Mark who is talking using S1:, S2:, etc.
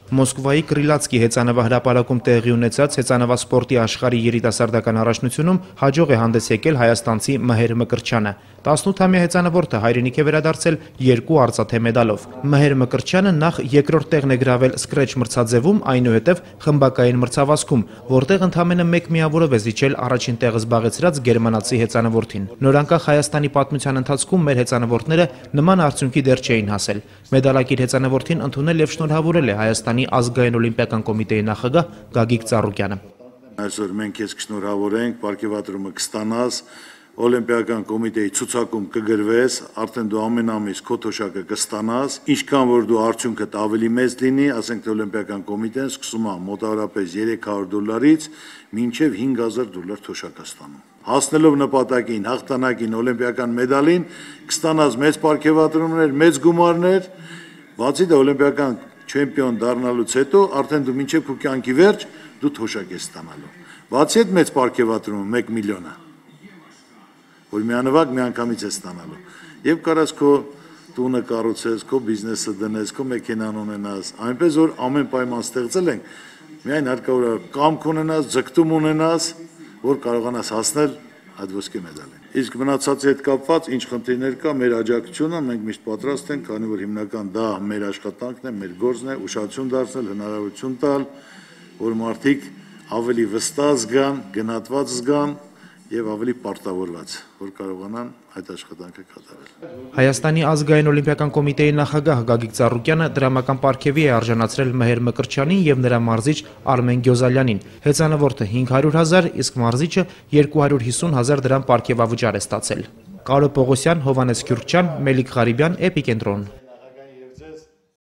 S1: Մոսկվայի Կրիլացկի հեծանվահրապարակում տեղի ունեցած հեծանվասպորտի աշխարհի երիտասարդական առաջնությունում հաջող է հանդես եկել հայաստանցի Մհեր Մկրտչյանը։ 18-ամյա հեծանվորդը հայրենիք է վերադարձել 2 արծաթե մեդալով։ Մհեր Մկրտչյանը նախ երկրորդ տեղն է գրավել սկրեչ մրցաձևում, այնուհետև խմբակային մրցավազքում, որտեղ ընդամենը 1 միավորով է զիջել առաջին տեղը զբաղեցրած գերմանացի հեծանվորդին։ Նորանկախ Հայաստանի պատմության ընթացքում մեր հեծանվորդները նման արդյունքի դեռ չէին հասել։ Մեդալակիր հեծանվորդին ընդունել եւ շնորհավորել է Հայաստանի ազգային օլիմպիական կոմիտեի նախագահ Գագիկ Ծառուկյանը։
S2: Այսօր մենք քեզ կշնորհավորենք, պարգևատրումը կստանաս, Օլիմպիական կոմիտեի ցուցակում կգրվես, արդեն դու ամեն ամիս քո թոշակը կստանաս, ինչքան որ դու արդյունքդ ավելի մեծ լինի, ասենք թե Օլիմպիական կոմիտեն սկսում է մոտավորապես $300-ից մինչև $5000 թոշակ ստանում։ Հասնելով նպատակին, հաղթանակին, օլիմպիական մեդալին, կստանաս մեծ պարգևատրումներ, մեծ գումարներ, բացի դա օլիմպիական չեմպիոն դառնալուց հետո արդեն դու մինչև քո կյանքի վերջ դու թոշակ ես ստանալու։ Բացի այդ մեծ պարգևատրումը 1 միլիոն է, որ միանվագ միանգամից է ստանալու։ Եվ կարաս քո տունը կառուցես, քո բիզնեսը դնես, քո մեքենան ունենաս, այնպես որ ամեն պայման ստեղծել ենք, միայն հարկավոր է կամք ունենաս, ձգտում ունենաս, որ կարողանաս հասնել այդ ոսկե մեդալին։ Իսկ մնացածի հետ կապված ինչ խնդիրներ կա, մեր աջակցությունը մենք միշտ պատրաստ ենք, քանի որ հիմնական դա մեր աշխատանքն է, մեր գործն է, ուշադրություն դարձնել, հնարավորություն տալ, որ մարդիկ ավելի վստահ զգան, գնահատված զգան եւ ավելի պարտավորված, որ կարողանան այդ աշխատանքը կատարել։
S1: Հայաստանի ազգային օլիմպիական կոմիտեի նախագահ Գագիկ Ծառուկյանը դրամական պարգևի է արժանացրել Մհեր Մկրտչյանին եւ նրա մարզիչ Արմեն Գյոզալյանին։ Հեծանվորդը 500,000, իսկ մարզիչը 250,000 դրամ պարգևավճար է ստացել։ Կարո Պողոսյան, Հովանես Քյուրքչյան, Մելիք Ղարիբյան, Էպիկենտրոն։